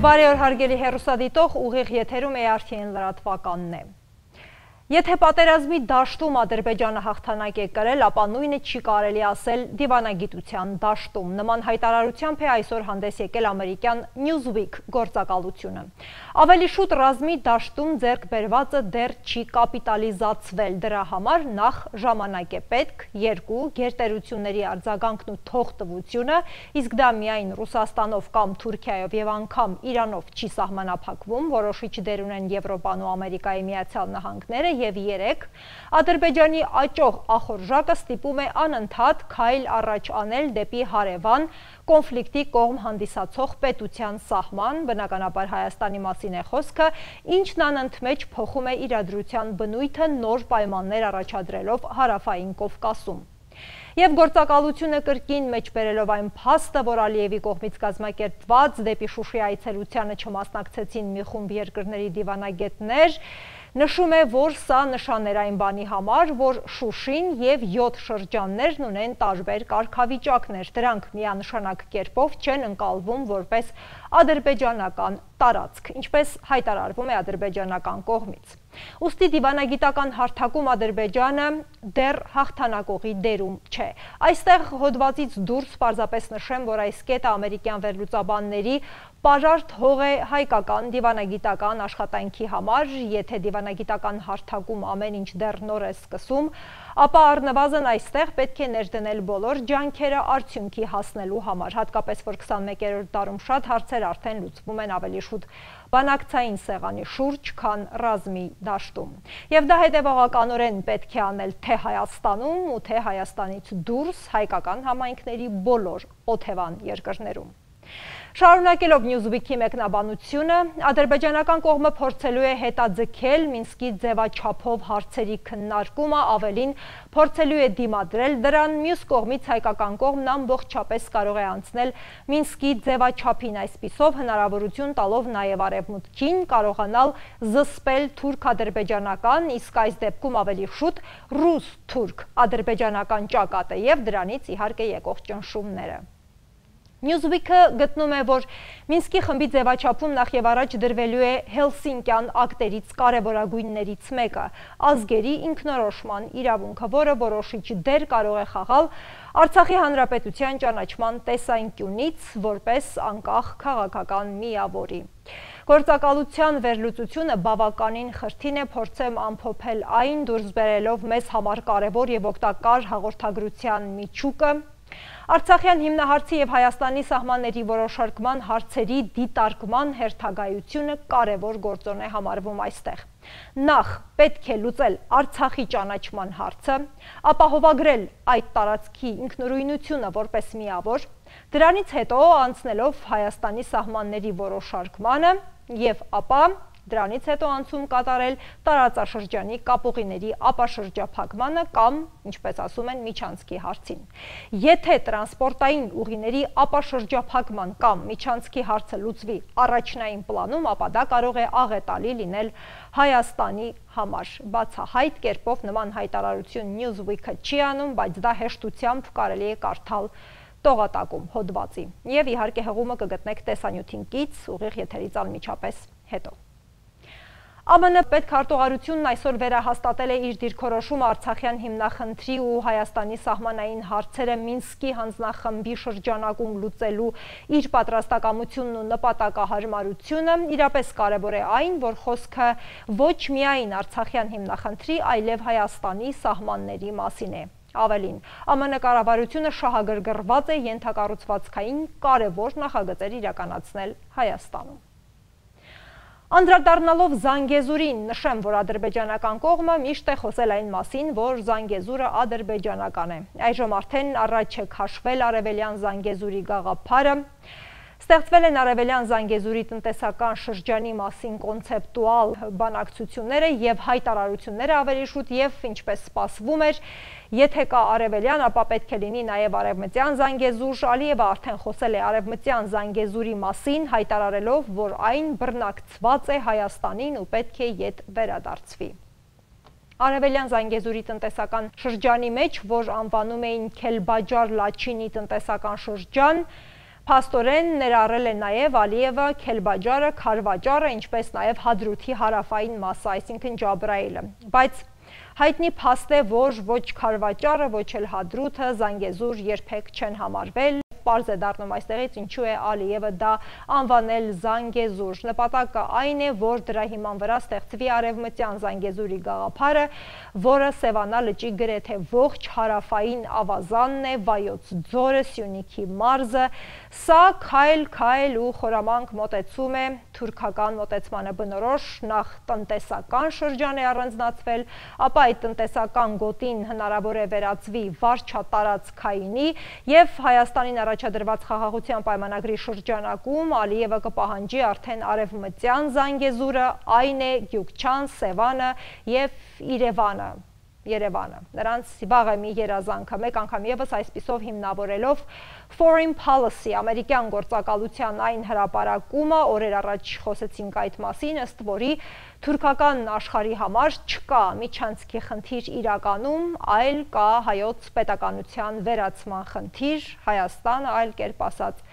Բարի օր հարգելի հեռուստադիտող, ուղիղ եթերում ARTN լրատվականն է։ Եթե պատերազմի դաշտում Ադրբեջանը հաղթանակ է կրել, ապա նույնը չի կարելի ասել դիվանագիտության դաշտում։ Նման հայտարարությամբ է այսօր հանդես եկել ամերիկյան Newsweek գործակալությունը։ Ավելի շուտ ռազմի դաշտում ձեռք բերվածը դեռ չի կապիտալիզացվել, դրա համար նախ ժամանակ է պետք, երկու գերտերությունների արձագանքն ու թողտվությունը, իսկ դա միայն Ռուսաստանով կամ Թուրքիայով եւ անգամ Իրանով չի սահմանափակվում, որոշիչ դեր ունեն Եվրոպան ու Ամերիկայի Միացյալ Նահանգները եւ 3 Ադրբեջանի աճող ախորժակը ստիպում է անընդհատ քայլ առաջ անել դեպի հարևան կոնֆլիկտի կողմ հանդիսացող պետության սահման, բնականաբար Հայաստանի մասին է խոսքը, ինչն անընդմեջ փոխում է իրադրության բնույթը նոր պայմաններ առաջադրելով հարավային Կովկասում։ Եվ գործակալությունը կրկին մեջ բերելով այն փաստը, որ Ալիևի կողմից կազմակերպված դեպի Շուշի այցելությանը չմասնակցեցին մի խումբ երկրների դիվանագետներ, նշում է, որ սա նշան էր այն բանի համար, որ Շուշին եւ 7 շրջաններն ունեն տարբեր կարգավիճակներ, դրանք միանշանակ կերպով չեն ընկալվում որպես ադրբեջանական տարածք, ինչպես հայտարարվում է ադրբեջանական կողմից։ Ուստի դիվանագիտական հարթակում Ադրբեջանը դեռ հաղթանակողի դերում չէ։ Այստեղ հոդվածից դուրս պարզապես նշեմ, որ այս կետը ամերիկյան վերլուծաբանների պարարտ հող է հայկական դիվանագիտական աշխատանքի համար, եթե դիվանագիտական հարթակում ամեն ինչ դեռ նոր է սկսում, ապա առնվազն այստեղ պետք է ներդնել բոլոր ջանքերը արդյունքի հասնելու համար, հատկապես որ 21-րդ դարում շատ հարցեր արդեն լուծվում են ավելի շուտ բանակցային սեղանի շուրջ, քան ռազմի դաշտում։ Եվ դա հետևողականորեն պետք է անել թե Հայաստանում ու թե Հայաստանից դուրս հայկական համայնքների բոլոր օթևան երկրներում։ Շարունակելով Newsweek-ի մեկնաբանությունը, ադրբեջանական կողմը փորձելու է հետաձգել Մինսկի ձևաչափով հարցերի քննարկումը, ավելին փորձելու է դիմադրել դրան, մյուս կողմից հայկական կողմն ամբողջապես կարող է անցնել Մինսկի ձևաչափին, այսպիսով հնարավորություն տալով նաև արևմուտքին կարողանալ զսպել թուրք-ադրբեջանական, իսկ այս դեպքում ավելի շուտ ռուս-թուրք-ադրբեջանական ճակատը եւ դրանից իհարկե եկող ճնշումները։ Newsweek-ը գտնում է, որ Մինսկի խմբի ձևաչափում նախ եւ առաջ դրվելու է Հելսինկյան ակտերից կարևորագույններից մեկը՝ ազգերի ինքնորոշման իրավունքը, որը որոշիչ դեր կարող է խաղալ Արցախի հանրապետության ճանաչման տեսանկյունից որպես անկախ քաղաքական միավորի։ Գործակալության վերլուծությունը բավականին խրթին է, փորձեմ ամփոփել այն, դուրս բերելով մեզ համար կարևոր եւ օգտակար հաղորդագրության միջուկը։ Արցախյան հիմնահարցի եւ Հայաստանի սահմանների որոշարկման հարցերի դիտարկման հերթագայությունը կարևոր գործոն է համարվում այստեղ։ Նախ պետք է լուծել Արցախի ճանաչման հարցը, ապահովագրել այդ տարածքի ինքնուրույնությունը որպես միավոր, դրանից հետո անցնելով Հայաստանի սահմանների որոշարկմանը եւ ապա դրանից հետո անցում կատարել տարածաշրջանի կապուղիների ապաշրջափակմանը կամ, ինչպես ասում են, միջանցքի հարցին։ Եթե տրանսպորտային ուղիների ապաշրջափակման կամ միջանցքի հարցը լուծվի առաջնային պլանում, ապա դա կարող է աղետալի լինել Հայաստանի համար։ Բացահայտ կերպով նման հայտարարություն Newsweek-ը չի անում, բայց դա հեշտությամբ կարելի է կարդալ տողատակում հոդվածի։ Եվ իհարկե հղումը կգտնեք տեսանյութին կից, ուղիղ եթերից անմիջապես հետո։ ԱՄՆ պետքարտուղարությունն այսօր վերահաստատել է իր դիրքորոշումը Արցախյան հիմնախնդրի ու Հայաստանի սահմանային հարցերը Մինսկի հանձնախմբի շրջանակում լուծելու իր պատրաստակամությունն ու նպատակահարմարությունը, իրապես կարևոր է այն, որ խոսքը ոչ միայն Արցախյան հիմնախնդրի, այլև Հայաստանի սահմանների մասին է։ Ավելին, ԱՄՆ կառավարությունը շահագրգռված է ենթակառուցվածքային կարևոր նախագծեր իրականացնել Հայաստանում։ Անդրադառնալով Զանգեզուրին, նշեմ, որ ադրբեջանական կողմը միշտ է խոսել այն մասին, որ Զանգեզուրը ադրբեջանական է։ Այժմ արդեն առաջ է քաշվել արևելյան Զանգեզուրի գաղափարը։ Ստեղծվել են արևելյան Զանգեզուրի տնտեսական շրջանի մասին կոնցեպտուալ բանակցությունները եւ հայտարարությունները ավելի շուտ եւ ինչպես սպասվում էր, եթե կա արևելյան, ապա պետք է լինի նաեւ արևմտյան Զանգեզուր։ Ալիևը արդեն խոսել է արևմտյան Զանգեզուրի մասին, հայտարարելով, որ այն բռնակցված է Հայաստանին ու պետք է ետ վերադարձվի։ Արևելյան Զանգեզուրի տնտեսական շրջանի մեջ, որ անվանում էին Քելբաջար Լաչինի տնտեսական շրջան, Փաստորեն ներառել է նաև Ալիևը, Քելբաջարը, Քարվաջարը, ինչպես նաև Հադրութի հարավային մասը, այսինքն Ջաբրայիլը, բայց հայտնի փաստ է, որ ոչ Քարվաջարը, ոչ էլ Հադրութը Զանգեզուր երբեք չեն համարվել։ Պարզ է դառնում այստեղից ինչու է Ալիևը դա անվանել Զանգեզուր։ Նպատակը այն է, որ դրա հիման վրա ստեղծվի արևմտյան Զանգեզուրի գաղափարը, որը Սևանա լճի գրեթե ողջ հարավային ավազանն է, Վայոց ձորը, Սյունիքի մարզը։ Սա քայլ ու խորամանկ մոտեցում է թուրքական մոտեցմանը բնորոշ, նախ տնտեսական շրջան է առանձնացվել, ապա այդ տնտեսական գոտին հնարավոր է վերածվի վարչատարածքայինի եւ Հայաստանին առաջադրված խաղաղության պայմանագրի շրջանակում Ալիևը կպահանջի արդեն արևմտյան Զանգեզուրը, այն է Գյուղչան, Սևանը եւ Երևանը։ Նրանց վաղ է մի երազանքը, մեկ անգամ եւս այսպիսով հիմնավորելով Foreign Policy, ամերիկյան գործակալության այն հրապարակումը, օրեր առաջ խոսեցինք այդ մասին, ըստ որի թուրքական աշխարհի համար չկա միջանցքի խնդիր իրականում, այլ կա հայոց պետականության վերացման խնդիր, Հայաստանը, այլ կերպ ասած,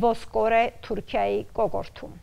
ոսկոր է Թուրքիայի կոկորդում։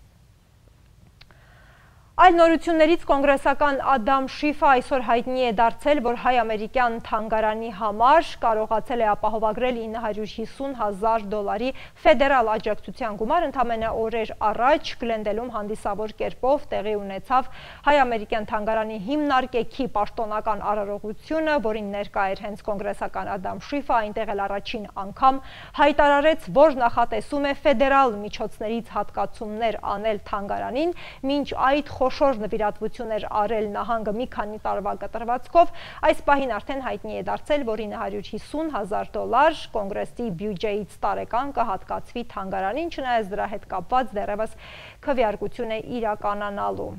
Այլ նորություններից կոնգրեսական Ադամ Շիֆը այսօր հայտնի է դարձել, որ հայ-ամերիկյան թանգարանի համար կարողացել է ապահովագրել $950,000 ֆեդերալ աջակցության գումար, ընդամենը օրեր առաջ Գլենդելում հանդիսավոր կերպով տեղի ունեցավ հայ-ամերիկյան թանգարանի հիմնարկեքի պաշտոնական արարողությունը, որին ներկա էր հենց կոնգրեսական Ադամ Շիֆը, այնտեղ էլ առաջին անգամ հայտարարեց, որ նախատեսում է ֆեդերալ միջոցներից հատկացումներ անել թանգարանին, մինչ այդ խոշոր նվիրատվություններ արել նահանգը մի քանի տարվա կտրվածքով, այս պահին արդեն հայտնի է դարձել, որ $950,000 կոնգրեսի բյուջեից տարեկան կհատկացվի թանգարանին, չնայած դրա հետ կապված դեռևս քվեարկություն է իրականանալու։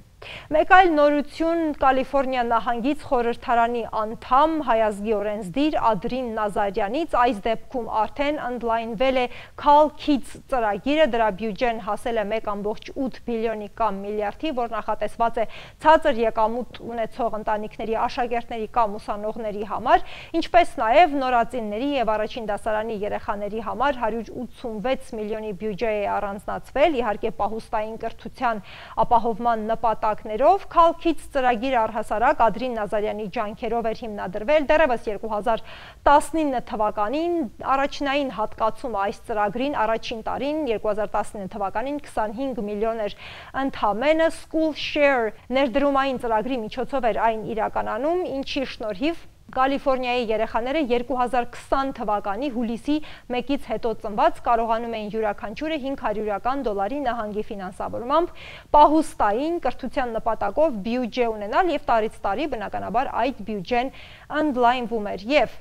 Մեկ այլ նորություն Կալիֆորնիա նահանգից խորհրդարանի անդամ հայազգի օրենսդիր Ադրին Նազարյանից, այս դեպքում արդեն ընդլայնվել է Call Kids ծրագիրը, դրա բյուջեն հասել է 1.8 բիլիոնի կամ միլիարդի, որ նախատեսված է ցածր եկամուտ ունեցող ընտանիքների, աշակերտների կամ ուսանողների համար, ինչպես նաև նորածինների եւ առաջին դասարանի երեխաների համար 186 միլիոնի բյուջե է առանձնացվել, իհարկե պահուստային կրթության ապահովման նպատակներով, Call Kids ծրագիրը առհասարակ Ադրին Նազարյանի ջանքերով էր հիմնադրվել, դեռևս 2019 թվականին առաջնային հատկացումը այս ծրագրին առաջին տարին 2019 թվականին 25 միլիոն էր ընդամենը, School Share ներդրումային ծրագրի միջոցով էր այն իրականանում, ինչի շնորհիվ Կալիֆորնիայի երեխաները 2020 թվականի հուլիսի 1-ից հետո ծնված կարողանում էին յուրաքանչյուրը $500 նահանգի ֆինանսավորմամբ պահուստային կրթության նպատակով բյուջե ունենալ եւ տարից տարի բնականաբար այդ բյուջեն ընդլայնվում էր եւ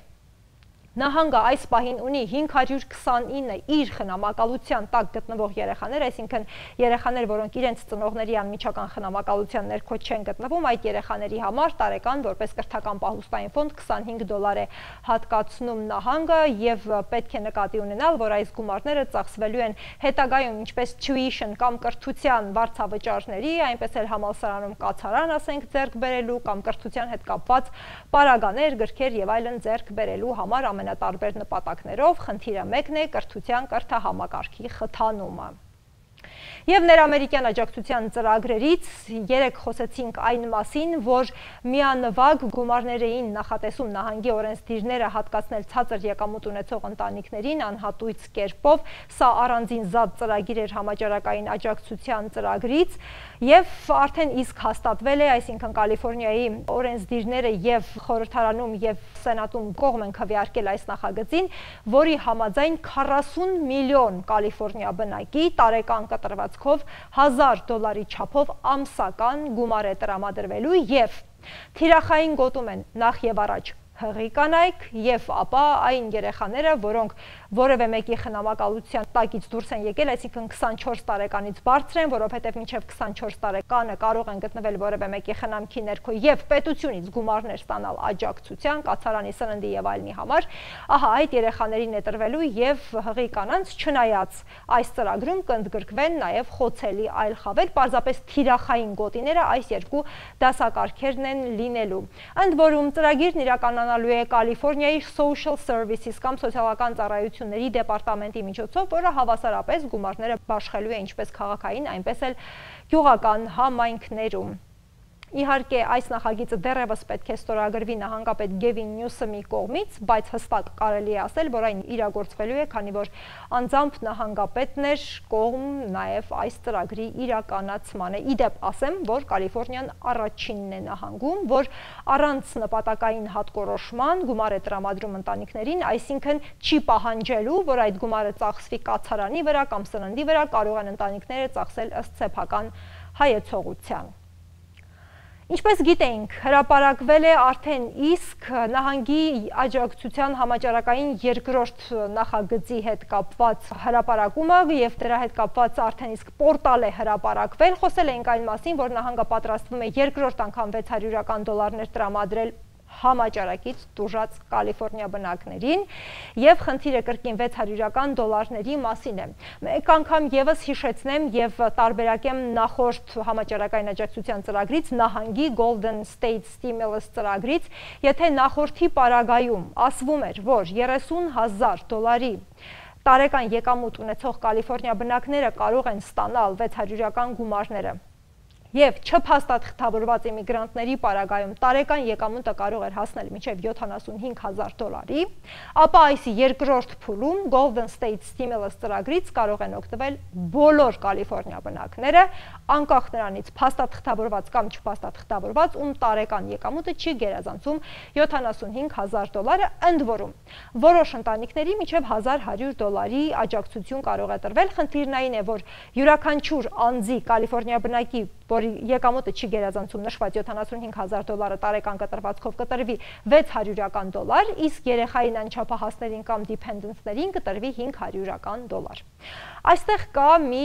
նահանգը այս պահին ունի 529 իր խնամակալության տակ գտնվող երեխաներ, այսինքն երեխաներ, որոնք իրենց ծնողների անմիջական խնամակալության ներքո չեն գտնվում, այդ երեխաների համար տարեկան որպես կրթական պահուստային ֆոնդ $25 է հատկացնում նահանգը եւ պետք է նկատի ունենալ, որ այս գումարները ծախսվելու են հետագայում ինչպես tuition կամ կրթության վարձավճարների, այնպես էլ համալսարանում կացարան, ասենք, ձեռք բերելու կամ կրթության հետ կապված պարագաներ, գրքեր եւ այլն ձեռք բերելու համար տարբեր նպատակներով, խնդիրը մեկն է կրթության կրթահամակարգի խթանումը։ Եվ ներամերիկյան աջակցության ծրագրերից երեք խոսեցինք այն մասին, որ միանվագ գումարներ էին նախատեսում նահանգի օրենսդիրները հատկացնել ցածր եկամուտ ունեցող ընտանիքներին անհատույց կերպով, սա առանձին զատ ծրագիր էր համաճարակային աջակցության ծրագրից եւ արդեն իսկ հաստատվել է, այսինքն Կալիֆորնիայի օրենսդիրները եւ խորհրդարանում եւ սենատում կողմ են քվեարկել այս նախագծին, որի համաձայն 40 միլիոն Կալիֆորնիա բնակի տարեկան կտրվածքով $1,000 չափով ամսական գումար է տրամադրվելու եւ թիրախային գոտում են նախ եւ առաջ հղի կանայք եւ ապա այն երեխաները, որոնք որևէ մեկի խնամակալության տակից դուրս են եկել, այսինքն 24 տարեկանից բարձր են, որովհետեւ մինչեւ 24 տարեկանը կարող են գտնվել որևէ մեկի խնամքի ներքո եւ պետությունից գումարներ ստանալ աջակցության, կացարանի, սննդի եւ այլնի համար, ահա այդ երեխաներին է տրվելու եւ հղի կանանց, չնայած այս ծրագրում կընդգրկվեն նաեւ խոցելի այլ խավեր, պարզապես թիրախային գոտիները այս երկու դասակարգերն են լինելու։ Ընդ որում ծրագիրն իրականանալու է Կալիֆորնիայի Social Services կամ սոցիալական ծառայություն իշխանությունների դեպարտամենտի միջոցով, որը հավասարապես գումարները բաշխելու է ինչպես քաղաքային, այնպես էլ գյուղական համայնքներում։ Իհարկե, այս նախագիծը դեռևս պետք է ստորագրվի նահանգապետ Գևին Նյուսոմի կողմից, բայց հստակ կարելի է ասել, որ այն իրագործվելու է, քանի որ անձամբ նահանգապետն էր կողմ նաև այս ծրագրի իրականացմանը։ Իդեպ ասեմ, որ Կալիֆոռնիան առաջինն է նահանգում, որ առանց նպատակային հատկորոշման գումար է տրամադրում ընտանիքներին, այսինքն չի պահանջելու, որ այդ գումարը ծախսվի կացարանի վրա կամ սննդի վրա, կարող են ընտանիքները ծախսել ըստ սեփական հայեցողության։ Ինչպես գիտենք, հրապարակվել է արդեն իսկ նահանգի աջակցության համաճարակային երկրորդ նախագծի հետ կապված հրապարակումը և դրա հետ կապված արդեն իսկ պորտալ է հրապարակվել։ Խոսել ենք այն մասին, որ նահանգը պատրաստվում է երկրորդ անգամ $600 տրամադրել համաճարակից տուժած Կալիֆոռնիա բնակներին և խնդիրը կրկին $600 մասին է։ Մեկ անգամ ևս հիշեցնեմ և տարբերակեմ նախորդ համաճարակային աջակցության ծրագրից, նահանգի Golden State Stimulus ծրագրից, եթե նախորդի պարագայում ասվում էր, որ $30,000 տարեկան եկամուտ ունեցող Կալիֆոռնիա բնակները կարող են ստանալ $600 գումարները և չփաստաթղթավորված իմիգրանտների պարագայում տարեկան եկամուտը կարող էր հասնել մինչև $75,000, ապա այս երկրորդ փուլում Golden State Stimulus ծրագրից կարող են օգտվել բոլոր Կալիֆոռնիա բնակները, անկախ նրանից փաստաթղթավորված կամ չփաստաթղթավորված, ում տարեկան եկամուտը չի գերազանցում $75,000, ընդ որում որոշ ընտանիքների մինչև $1,100 աջակցություն կարող է տրվել։ Խնդիրն այն է, որ յուրաքանչյուր անձի Կալիֆոռնիա բնակի, որի եկամուտը չի գերազանցում նշված $75,000 տարեկան կտրվածքով կտրվի $600, իսկ երեխային անչափահասներին կամ դիփենդենտներին կտրվի $500։ Այստեղ կա մի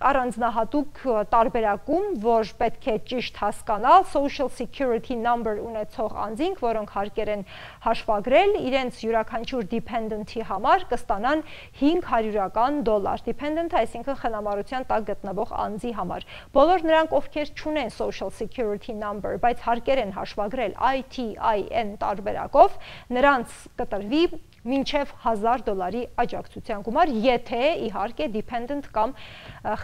առանձնահատուկ տարբերակում, որ պետք է ճիշտ հասկանալ, Social Security Number ունեցող անձինք, որոնք հարկեր են հաշվագրել, իրենց յուրաքանչյուր դիփենդենտի համար կստանան $500, դիփենդենտը, այսինքն խնամարության տակ գտնվող անձի համար։ Բոլոր նրանք, ովքեր չունեն Social Security Number, բայց հարկեր են հաշվագրել ITIN տարբերակով, նրանց կտրվի մինչև $1,000 աջակցության գումար, եթե իհարկե dependent կամ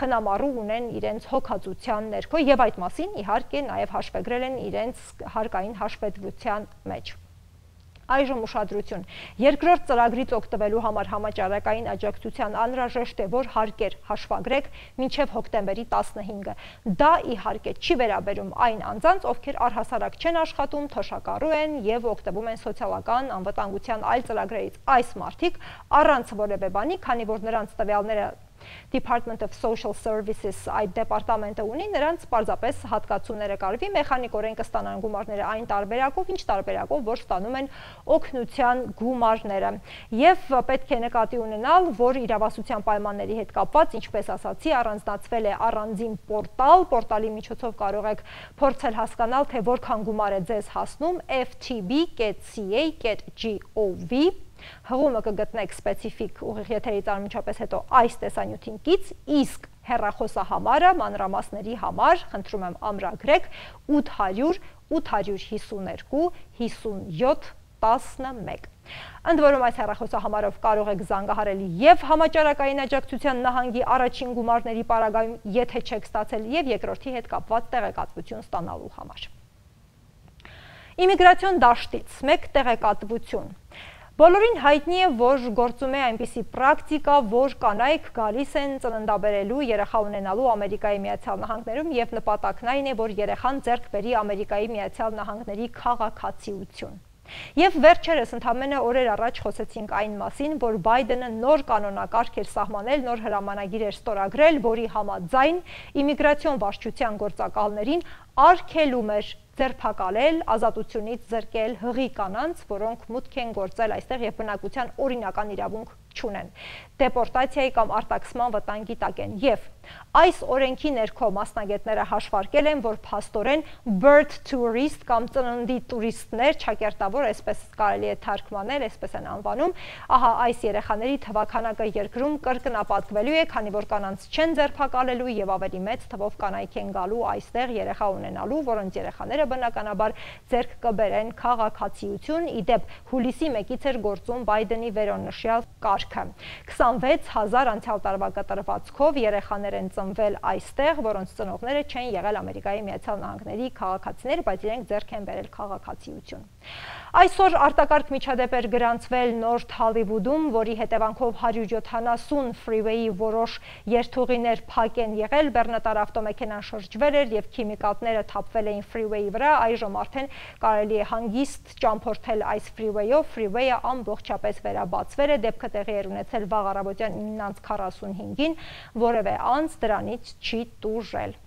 խնամառու ունեն իրենց հոգացության ներքո եւ այդ մասին իհարկե նաեւ հաշվագրել են իրենց հարկային հաշվետվության մեջ։ Այժմ ուշադրություն։ Երկրորդ ծրագրից օգտվելու համար համաճարակային աջակցության անհրաժեշտ է, որ հարկեր հաշվագրեք մինչև հոկտեմբերի 15-ը։ Դա իհարկե չի վերաբերում այն անձանց, ովքեր առհասարակ չեն աշխատում, թոշակառու են եւ օգտվում են սոցիալական անվտանգության այլ ծրագրերից։ Այս մարդիկ առանց որևէ բանի, քանի որ նրանց տվյալները Department of Social Services այդ դեպարտամենտը ունի, նրանց պարզապես հատկացումները կարվի, մեխանիկորեն կստանան գումարները այն տարբերակով, ինչ տարբերակով, որ ստանում են օգնության գումարները։ Եվ պետք է նկատի ունենալ, որ իրավասության պայմանների հետ կապված, ինչպես ասացի, առանձնացվել է առանձին պորտալ, պորտալի միջոցով կարող եք փորձել հասկանալ, թե որքան գումար է ձեզ հասնում, ftb.ca.gov Հղումը կգտնեք սպեցիֆիկ ուղիղ եթերից անմիջապես հետո այս տեսանյութին կից, իսկ հեռախոսահամարը մանրամասների համար, խնդրում եմ ամրագրեք 800 852 57 11։ Ընդ որում այս հեռախոսահամարով կարող եք զանգահարել եւ համաճարակային աջակցության նահանգի առաջին գումարների պարագայում, եթե չեք ստացել, եւ երկրորդի հետ կապված տեղեկատվություն ստանալու համար։ Իմիգրացիոն դաշտից մեկ տեղեկատվություն։ Բոլորին հայտնի է, որ գործում է այնպիսի պրակտիկա, որ կանայք գալիս են ծննդաբերելու, երեխա ունենալու Ամերիկայի Միացյալ Նահանգներում եւ նպատակն այն է, որ երեխան ձեռք բերի Ամերիկայի Միացյալ Նահանգների քաղաքացիություն։ Եվ վերջերս ընդամենը օրեր առաջ խոսեցինք այն մասին, որ Բայդենը նոր կանոնակարգ էր սահմանել, նոր հրամանագիր էր ստորագրել, որի համաձայն իմիգրացիոն վարչության գործակալներին արգելում էր ձերբակալել, ազատությունից զրկել հղի կանանց, որոնք մուտք են գործել այստեղ եւ բնակության օրինական իրավունք չունեն, դեպորտացիայի կամ արտաքսման վտանգի տակ են։ Եվ այս օրենքի ներքո մասնագետները հաշվարկել են, որ փաստորեն birth tourist կամ ծննդի տուրիստներ, ճակերտավոր, այսպես կարելի է թարգմանել, այսպես են անվանում, ահա այս երեխաների թվաքանակը երկրում կրկնապատկվելու է, քանի որ կանանց չեն ձերբակալելու եւ ավելի մեծ թվով կանայք են գալու այստեղ երեխա ունենալու ունենալու, որոնց երեխաները բնականաբար ձեռք կբերեն քաղաքացիություն, ի դեպ հուլիսի 1-ից էր գործում Բայդենի վերոնշյալ կարգը։ 26,000 անցյալ տարվա կտրվածքով երեխաներ են ծնվել այստեղ, որոնց ծնողները չեն եղել Ամերիկայի Միացյալ Նահանգների քաղաքացիներ, բայց իրենք ձեռք են բերել քաղաքացիություն։ Այսօր արտակարգ միջադեպ էր գրանցվել Նորթ Հոլիվուդում, որի հետևանքով 170 ֆրիվեյի որոշ երթուղիներ փակ են եղել, բեռնատար ավտոմեքենան շրջվել էր և քիմիկատները թափվել էին ֆրիվեյի վրա, այժմ արդեն կարելի է հանգիստ ճամփորդել այս ֆրիվեյով, ֆրիվեյը ամբողջապես վերաբացվել է, դեպքը տեղի էր ունեցել վաղ առավոտյան 9:45-ին, որևէ անձ դրանից չի տուժել։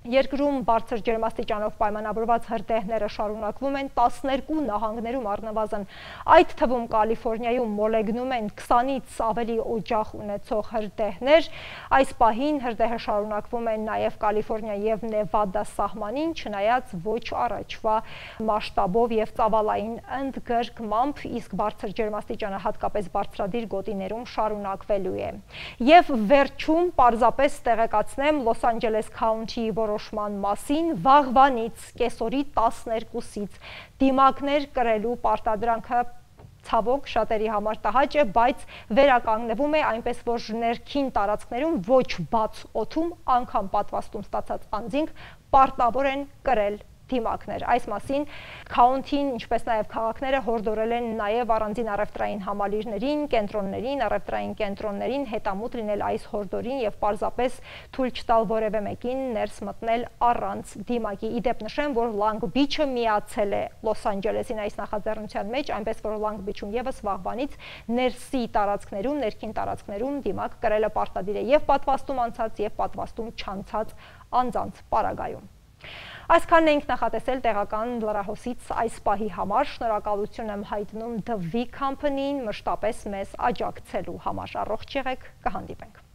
Երկրում բարձր ջերմաստիճանով պայմանավորված հրդեհները շարունակվում են 12 նահանգներում առնվազն, այդ թվում Կալիֆոռնիայում մոլեգնում են 20-ից ավելի օջախ ունեցող հրդեհներ, այս պահին հրդեհը շարունակվում են նաև Կալիֆոռնիա և Նևադա սահմանին, չնայած ոչ առաջվա մասշտաբով և ծավալային ընդգրկմամբ, իսկ բարձր ջերմաստիճանը հատկապես բարձրադիր գոտիներում շարունակվելու է։ Եվ վերջում պարզապես տեղեկացնեմ Լոս Անջելես քաունթիի որոշման մասին, վաղվանից կեսօրի 12-ից դիմակներ կրելու պարտադրանքը ցավոք շատերի համար տհաճ է, բայց վերականգնվում է, այնպես որ ներքին տարածքներում ոչ բաց օդում անգամ պատվաստում ստացած անձինք պարտավոր են կրել դիմակներ։ Այս մասին քաունթին, ինչպես նաև քաղաքները հորդորել են նաև առանձին առևտրային համալիրներին, կենտրոններին, առևտրային կենտրոններին հետամուտ լինել այս հորդորին և պարզապես թույլ չտալ որևէ մեկին ներս մտնել առանց դիմակի։ Ի դեպ նշեմ, որ Լանգ Բիչը միացել է Լոս Անջելեսին այս նախաձեռնության մեջ, այնպես որ Լանգ Բիչում ևս վաղվանից ներսի տարածքներում, ներքին տարածքներում դիմակ կրելը պարտադիր է և պատվաստում անցած, և պատվաստում չանցած անձանց պարագայում։ Այսքանն էինք նախատեսել տեղական լրահոսից այս պահի համար, շնորհակալություն եմ հայտնում The V Company-ին մշտապես մեզ աջակցելու համար, առողջ եղեք, կհանդիպենք։